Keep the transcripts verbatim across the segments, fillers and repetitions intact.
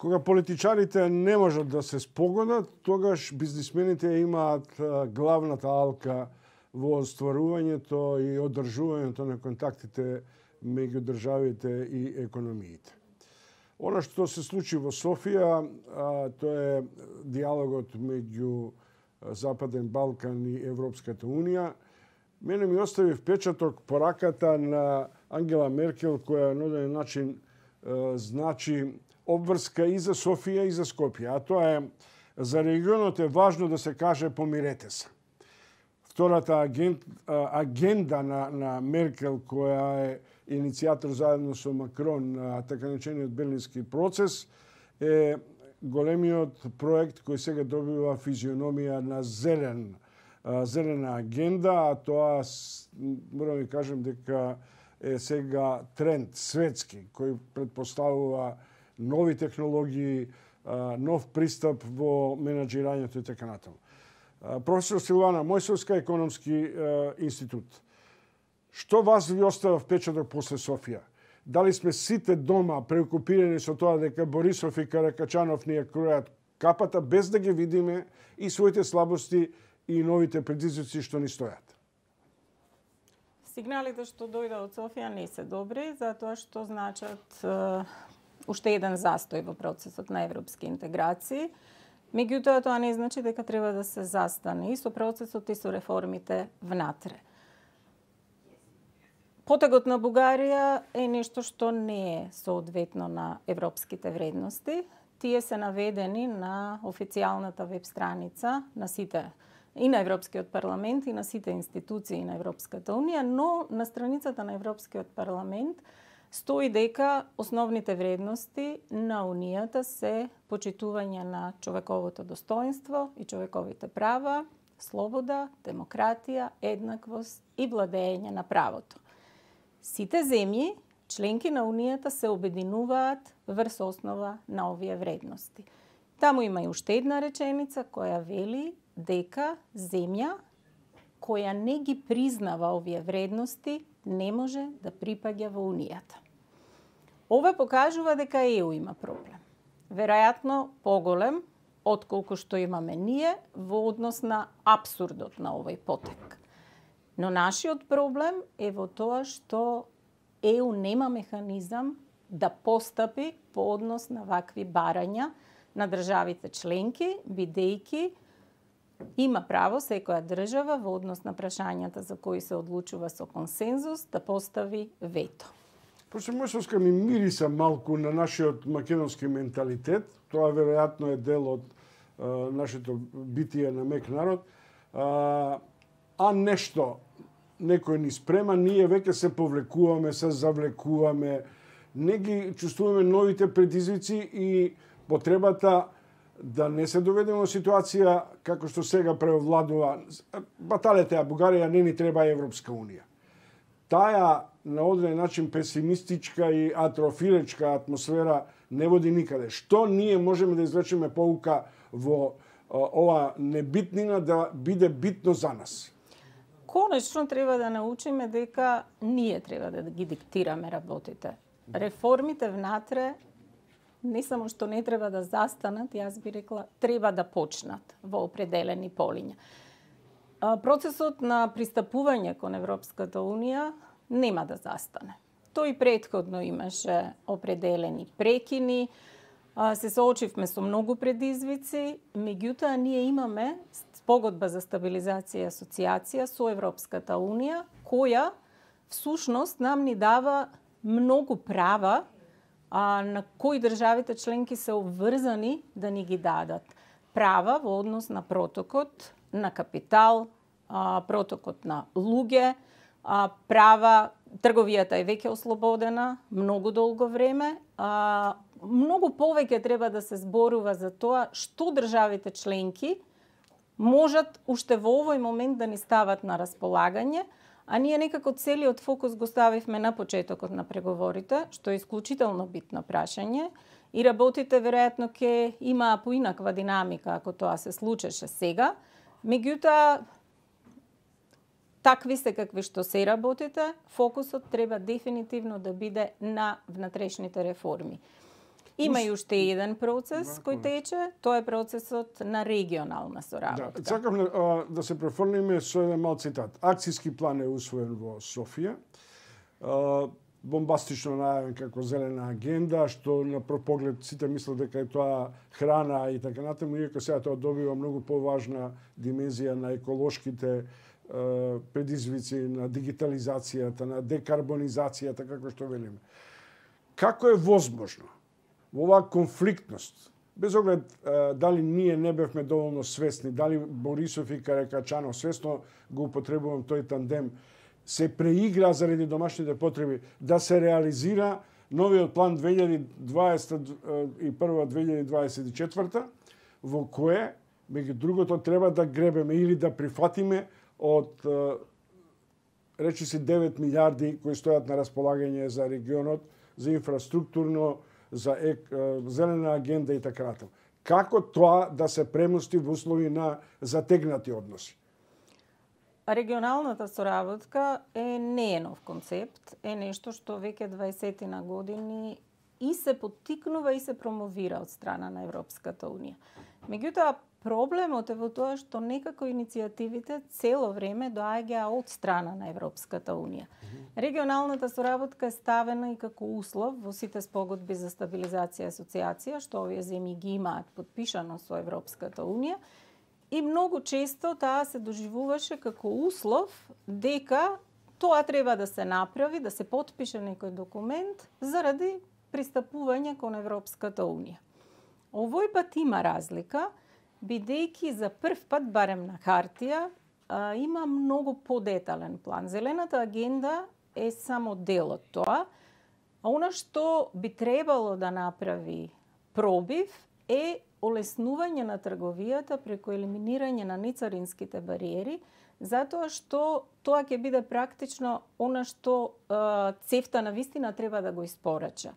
Кога политичарите не можат да се спогодат, тогаш бизнисмените имаат главната алка во остварувањето и одржувањето на контактите меѓу државите и економиите. Она што се случи во Софија, тоа е диалогот меѓу Западен Балкан и Европската Унија. Мене ми остави впечаток пораката на Ангела Меркел, која на одреден начин значи обврска и за Софија и за Скопје. А тоа е, за регионот е важно да се каже помирете се. Втората агенда на, на Меркел, која е иницијатор заедно со Макрон на така наречениот Берлински процес, е големиот проект кој сега добива физиономија на зелен, зелена агенда, а тоа, морам да кажем дека е сега тренд светски, кој предпоставува нови технологии, нов пристап во менаџирањето и така натаму. Професор Силвана Мојсовска, Економски институт. Што вас ви остава впечаток после Софија? Дали сме сите дома преокупирани со тоа дека Борисов и Каракачанов ни ја кројат капата, без да ги видиме и своите слабости и новите предизвици што ни стојат? Сигналите што дојде од Софија не се добри, затоа што значат е, уште еден застој во процесот на европски интеграции. Меѓутоа, тоа не значи дека треба да се застане и со процесот и со реформите внатре. Потегот на Бугарија е нешто што не е соодветно на европските вредности. Тие се наведени на официјалната веб страница на сите и на Европскиот парламент и на сите институции на Европската унија, но на страницата на Европскиот парламент стои дека основните вредности на Унијата се почитување на човековото достоинство и човековите права, слобода, демократија, еднаквост и владење на правото. Сите земји, членки на Унијата, се обединуваат врз основа на овие вредности. Таму има и уште една реченица која вели дека земја која не ги признава овие вредности не може да припаѓа во Унијата. Ова покажува дека Е У има проблем. Веројатно поголем отколку што имаме ние во однос на апсурдот на овој потек. Но нашиот проблем е во тоа што Е У нема механизам да постапи по однос на вакви барања на државите членки, бидејќи има право секоја држава во однос на прашањата за кои се одлучува со консензус да постави вето. Професор Мојсовска, ми мириса малку на нашиот македонски менталитет. Тоа веројатно е дел од а, нашето битие на мек народ. А, а нешто некој ни спрема, ние веќе се повлекуваме, се завлекуваме, не ги чувствуваме новите предизвици и потребата да не се доведеме во ситуација како што сега преовладува баталете, а Бугарија не ни треба Европска Унија. Таа на одреден начин песимистичка и атрофилечка атмосфера не води никаде. Што ние можеме да извлечеме поука во ова небитнина да биде битно за нас? Конечно треба да научиме дека ние треба да ги диктираме работите. Реформите внатре не само што не треба да застанат, јас би рекла, треба да почнат во определени полиња. Процесот на пристапување кон Европската Унија нема да застане. Тој претходно имаше определени прекини, се соочивме со многу предизвици, меѓутоа ние имаме спогодба за стабилизација и асоциација со Европската Унија, која всушност нам ни дава многу права а, на кои државите членки се обврзани да ни ги дадат. Права во однос на протокот на капитал, а, протокот на луѓе, а, права, трговијата е веќе ослободена многу долго време, а, многу повеќе треба да се зборува за тоа што државите членки можат уште во овој момент да ни стават на располагање, а ние некако целиот фокус го ставивме на почетокот на преговорите, што е исклучително битно прашање, и работите веројатно ќе имаа поинаква динамика ако тоа се случеше сега. Меѓутоа, такви се какви што се работите, фокусот треба дефинитивно да биде на внатрешните реформи. Има и уште еден процес кој тече, тоа е процесот на регионална соработка. Да, сакам а, да се префрлиме со еден мал цитат. Акцијски план е усвоен во Софија. А, бомбастично најавен како зелена агенда, што на прв поглед сите мислат дека е тоа храна и така натаму, иако сега тоа добива многу поважна димензија на еколошките предизвици, на дигитализацијата, на декарбонизацијата, како што велиме. Како е возможно во оваа конфликтност, без оглед дали ние не бевме доволно свесни, дали Борисов и Каракачанов свесно го употребувам тој тандем, се преигра заради домашните потреби да се реализира новиот план две илјади дваесет и прва - две илјади дваесет и четврта, во кое, меѓу другото, треба да гребеме или да прифатиме од речи си девет милиарди кои стојат на располагање за регионот, за инфраструктурно, за ек, зелена агенда и така натаму. Како тоа да се премости во услови на затегнати односи? Регионалната соработка е не е нов концепт, е нешто што веќе дваесет на години и се поттикнува и се промовира од страна на Европската унија. Меѓутоа, проблемот е во тоа што некако иницијативите цело време доаѓаа од страна на Европската унија. Регионалната соработка е ставена и како услов во сите спогодби за стабилизација и асоциација, што овие земји ги имаат подпишано со Европската унија, и многу често таа се доживуваше како услов дека тоа треба да се направи, да се потпише некој документ заради пристапување кон Европската унија. Овој пат има разлика, бидејќи за прв пат, барем на хартија, има многу подетален план. Зелената агенда е само дел од тоа, а она што би требало да направи пробив е олеснување на трговијата преку елиминирање на нецаринските бариери, затоа што тоа ќе биде практично она што ЦЕФТА на вистина треба да го испорача.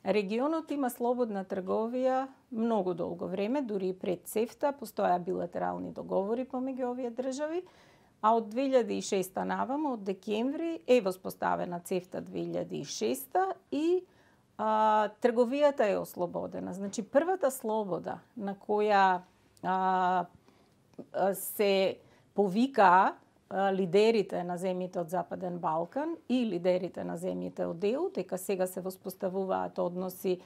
Регионот има слободна трговија многу долго време, дури и пред ЦЕФТА постоја билатерални договори помеѓу овие држави, а од две илјади и шеста наваму, од декември, е воспоставена ЦЕФТА две илјади и шеста и а, трговијата е ослободена. Значи, првата слобода на која а, се повикаа лидерите на земјите од Западен Балкан и лидерите на земјите од ЕУ, дека сега се воспоставуваат односи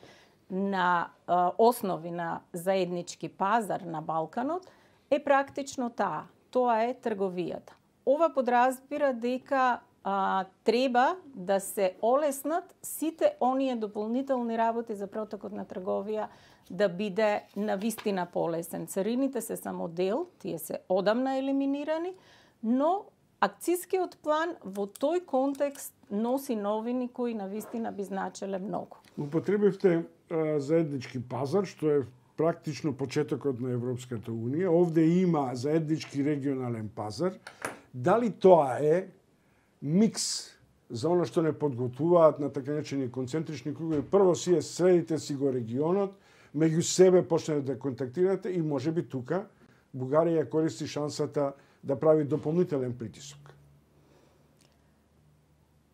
на а, основи на заеднички пазар на Балканот, е практично таа. Тоа е трговијата. Ова подразбира дека а, треба да се олеснат сите оние дополнителни работи за протокот на трговија да биде навистина полесен. Царините се само дел, тие се одамна елиминирани, но акцијскиот план во тој контекст носи новини кои навистина би значеле многу. Употребивте а, заеднички пазар, што е практично почетокот на Европската унија. Овде има заеднички регионален пазар. Дали тоа е микс за оно што не подготвуваат на така наречени концентрични кругови? Прво си е средите си го регионот, меѓу себе почнете да контактирате и можеби тука Бугарија користи шансата да прави дополнителен притисок.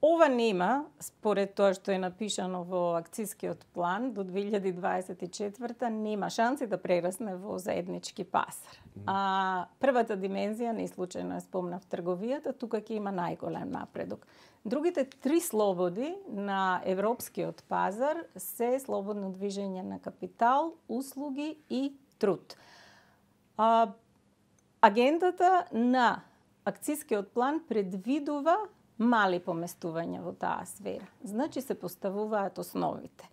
Ова нема, според тоа што е напишано во акцијскиот план, до две илјади дваесет и четврта нема шанси да прерасне во заеднички пазар. А првата димензија, не случајно ја спомнав, трговијата, тука ќе има најголем напредок. Другите три слободи на европскиот пазар се слободно движење на капитал, услуги и труд. А, агендата на акцијскиот план предвидува мали поместувања во таа сфера. Значи се поставуваат основите.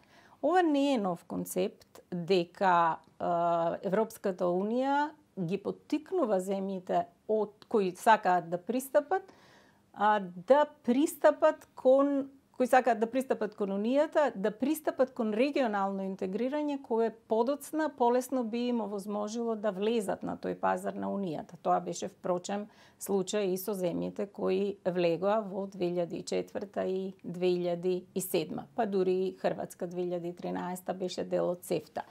Ова не е нов концепт дека е, Европската унија ги поттикнува земјите од кои сакаат да пристапат, а, да пристапат кон кои сакаат да пристапат кон унијата, да пристапат кон регионално интегрирање кое подоцна полесно би им овозможило да влезат на тој пазар на унијата. Тоа беше впрочем случај и со земјите кои влегоа во две илјади и четврта и две илјади и седма, па дури и Хрватска две илјади и тринаесета беше дел од ЦЕФТА.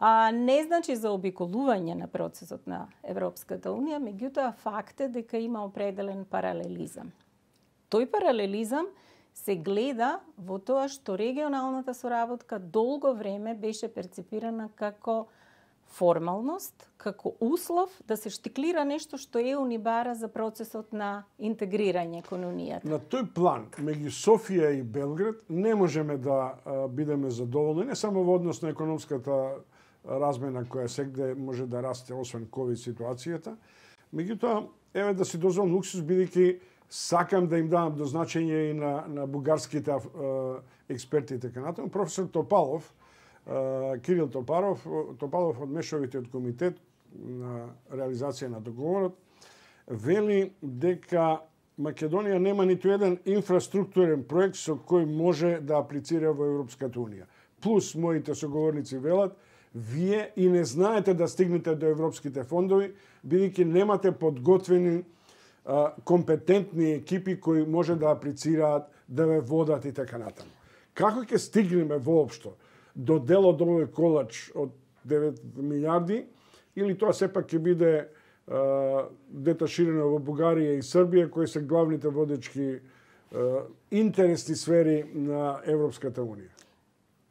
А не значи за обиколување на процесот на Европската унија, меѓутоа факт е дека има определен паралелизам. Тој паралелизам се гледа во тоа што регионалната соработка долго време беше перцепирана како формалност, како услов да се штиклира нешто што ЕУ ни бара за процесот на интегрирање кон Унијата. На тој план, меѓу Софија и Белград, не можеме да а, бидеме задоволни, не само во однос на економската размена која сегде може да расте, освен ковид ситуацијата. Меѓутоа, еве да си дозволам луксус, бидејќи сакам да им давам до значење и на, на бугарските а, експерти и така натаму. Професор Топалов, а, Кирил Топаров, Топалов од Мешовитиот комитет на реализација на договорот, вели дека Македонија нема ниту еден инфраструктурен проект со кој може да аплицира во Европската Унија. Плюс, моите соговорници велат, вие и не знаете да стигнете до европските фондови, бидејќи немате подготвени а, компетентни екипи кои може да аплицираат, да ве водат и така натаму. Како ќе стигнеме воопшто до дел од овој колач од девет милиарди, или тоа сепак ќе биде а, деташирано во Бугарија и Србија, кои се главните водечки а, интересни сфери на Европската Унија?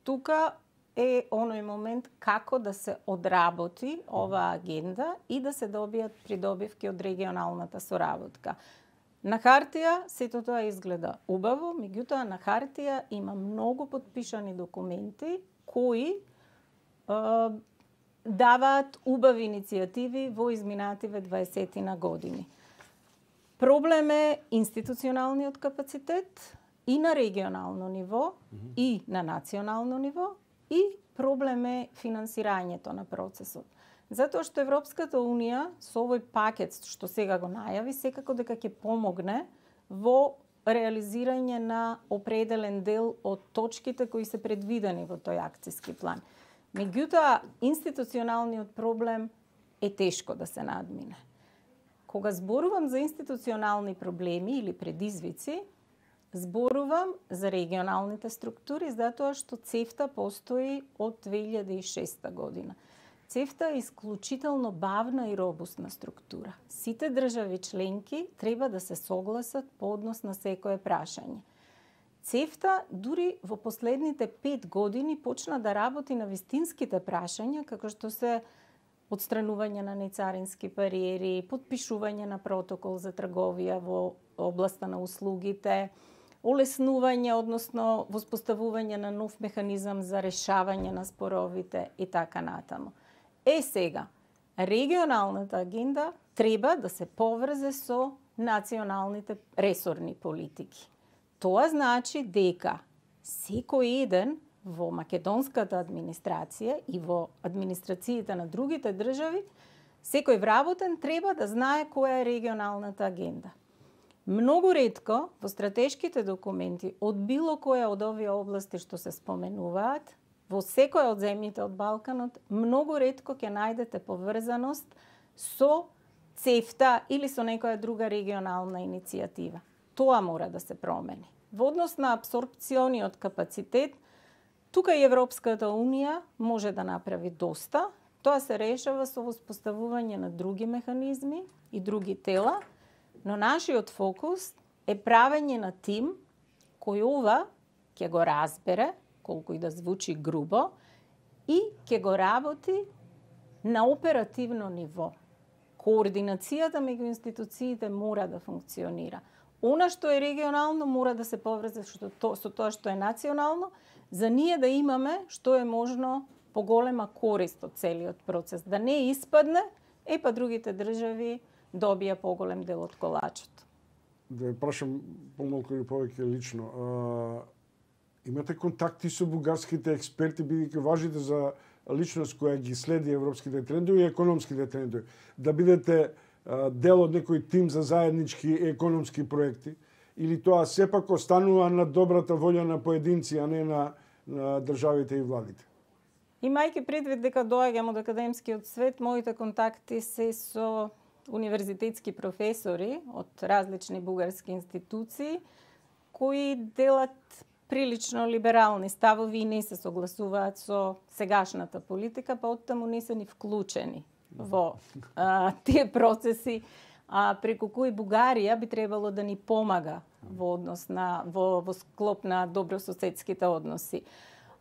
Тука е оној момент како да се одработи оваа агенда и да се добијат придобивки од регионалната соработка. На хартија сето тоа изгледа убаво, меѓутоа на хартија има многу подпишани документи кои е, даваат убави иницијативи во изминативе дваесетина години. Проблем е институционалниот капацитет и на регионално ниво, mm-hmm. и на национално ниво, и проблем е финансирањето на процесот. Затоа што Европската Унија со овој пакет што сега го најави, секако дека ќе помогне во реализирање на определен дел од точките кои се предвидени во тој акциски план. Меѓутоа, институционалниот проблем е тешко да се надмине. Кога зборувам за институционални проблеми или предизвици, зборувам за регионалните структури, затоа што ЦЕФТА постои од две илјади и шеста година. ЦЕФТА е исклучително бавна и робустна структура. Сите држави членки треба да се согласат по однос на секое прашање. ЦЕФТА дури во последните пет години почна да работи на вистинските прашања, како што се отстранување на нецарински бариери, подпишување на протокол за трговија во областа на услугите, олеснување, односно воспоставување на нов механизам за решавање на споровите и така натаму. Е сега, регионалната агенда треба да се поврзе со националните ресорни политики. Тоа значи дека секој еден во македонската администрација и во администрациите на другите држави, секој вработен треба да знае која е регионалната агенда. Многу ретко во стратешките документи од било која од овие области што се споменуваат, во секоја од земјите од Балканот, многу ретко ќе најдете поврзаност со ЦЕФТА или со некоја друга регионална иницијатива. Тоа мора да се промени. Во однос на апсорбциониот капацитет, тука и Европската Унија може да направи доста. Тоа се решава со воспоставување на други механизми и други тела, но нашиот фокус е правење на тим кој ова ќе го разбере, колку и да звучи грубо, и ќе го работи на оперативно ниво. Координацијата меѓу институциите мора да функционира. Она што е регионално мора да се поврзе со тоа што е национално, за ние да имаме што е можно поголема корист од целиот процес. Да не испадне, е па другите држави добија поголем дел од колачот. Да ве прашам помалку или повеќе лично. А, имате контакти со бугарските експерти, бидејќи важите за личност која ги следи европските трендови и економските трендови. Да бидете а, дел од некој тим за заеднички економски проекти, или тоа сепак останува на добрата волја на поединци, а не на, на државите и владите? Имајќи предвид дека доаѓам од академскиот свет, моите контакти се со универзитетски професори од различни бугарски институции кои делат прилично либерални ставови и не се согласуваат со сегашната политика, па оттаму не се ни вклучени во а, тие процеси а преку кои Бугарија би требало да ни помага во однос на во, во склоп на добрососедските односи.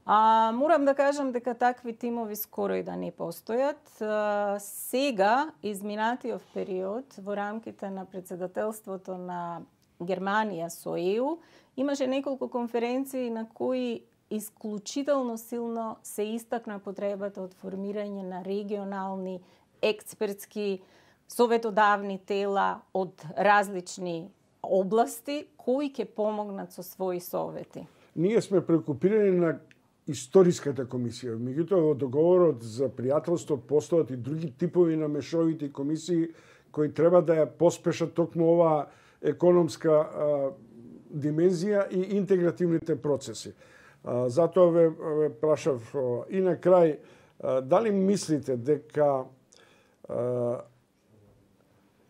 А, морам да кажам дека такви тимови скоро и да не постојат. А, сега, изминатиот период, во рамките на председателството на Германија со Е Ју, имаше неколку конференции на кои исклучително силно се истакна потребата од формирање на регионални експертски советодавни тела од различни области кои ќе помогнат со своји совети. Ние сме преокупирани на историската комисија. Меѓутоа, во договорот за пријателство постојат и други типови на мешовити комисии кои треба да ја поспешат токму оваа економска а, димензија и интегративните процеси. А, затоа ве, ве прашав и на крај, а, дали мислите дека а,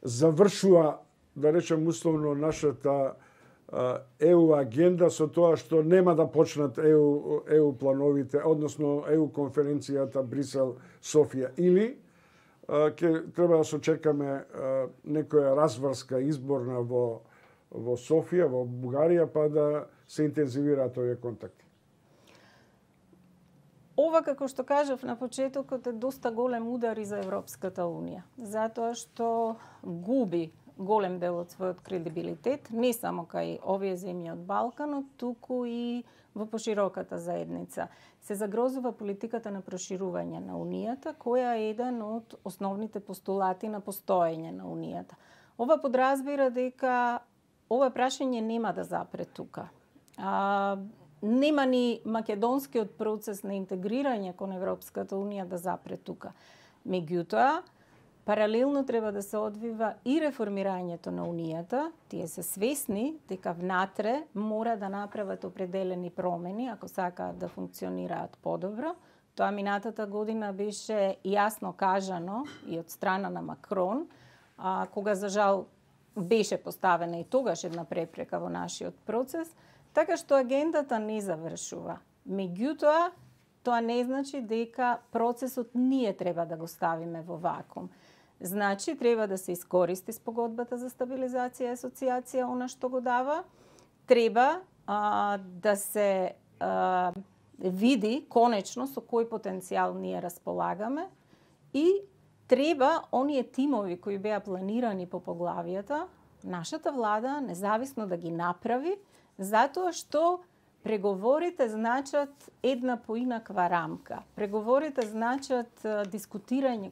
завршува, да речем условно, нашата Е Ју агенда со тоа што нема да почнат Е Ју, Е Ју плановите, односно Е Ју конференцијата Брисел Софија, или ќе треба да се очекаме некоја разврска изборна во во Софија, во Бугарија, па да се интензивираат овие контакти. Ова, како што кажав на почетокот, е доста голем удар и за Европската Унија, затоа што губи голем дел од својот кредибилитет, не само кај овие земји од Балканот, туку и во пошироката заедница. Се загрозува политиката на проширување на Унијата, која е еден од основните постулати на постоење на Унијата. Ова подразбира дека ова прашање нема да запре тука. А, нема ни македонскиот процес на интегрирање кон Европската Унија да запре тука. Меѓутоа, паралелно треба да се одвива и реформирањето на Унијата. Тие се свесни дека внатре мора да направат определени промени ако сакаат да функционираат подобро. Тоа минатата година беше јасно кажано и од страна на Макрон, а, кога за жал беше поставена и тогаш една препрека во нашиот процес, така што агендата не завршува. Меѓутоа, тоа не значи дека процесот ние треба да го ставиме во вакуум. Значи, треба да се искористи спогодбата за стабилизација и асоциација, она што го дава. Треба а, да се а, види конечно со кој потенцијал ние располагаме и треба оние тимови кои беа планирани по поглавијата, нашата влада независно да ги направи, затоа што преговорите значат една поинаква рамка. Преговорите значат а, дискутирање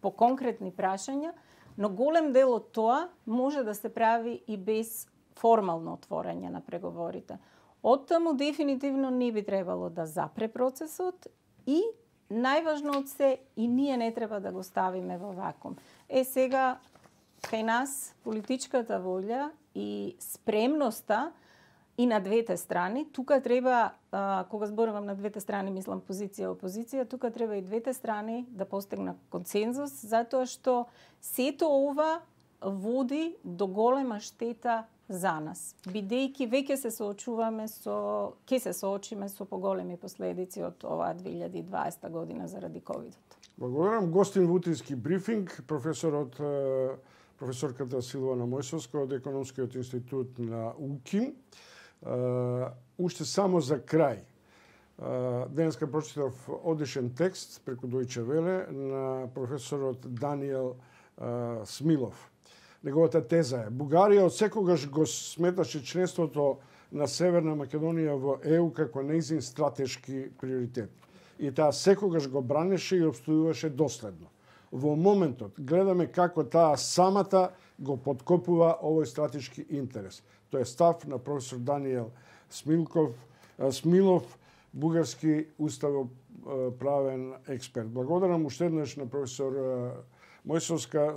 по конкретни прашања, но голем дел од тоа може да се прави и без формално отворање на преговорите. Оттаму дефинитивно не би требало да запре процесот и најважно од се и ние не треба да го ставиме во вакуум. Е сега кај нас политичката волја и спремноста и на двете страни, тука треба, а, кога зборувам на двете страни, мислам позиција и опозиција, тука треба и двете страни да постигнат консензус, затоа што сето ова води до голема штета за нас, бидејќи веќе се соочуваме со, ќе се соочиме со поголеми последици од оваа две илјади и дваесета година заради ковидот. Благодарам. Гостин во утрински брифинг, професорот професорката Силвана Мојсовска од Економскиот институт на УКИМ. Uh, уште само за крај. Uh, денеска прочитав одишен текст преку Дојче Веле на професорот Даниел uh, Смилов. Неговата теза е: Бугарија од секогаш го сметаше членството на Северна Македонија во Е Ју како нејзин стратешки приоритет. И таа секогаш го бранеше и обстојуваше доследно. Во моментот гледаме како таа самата го подкопува овој стратешки интерес. Тоа е став на професор Даниел Смилков, Смилов, бугарски уставоправен експерт. Благодарам уште еднаш на професор Мојсовска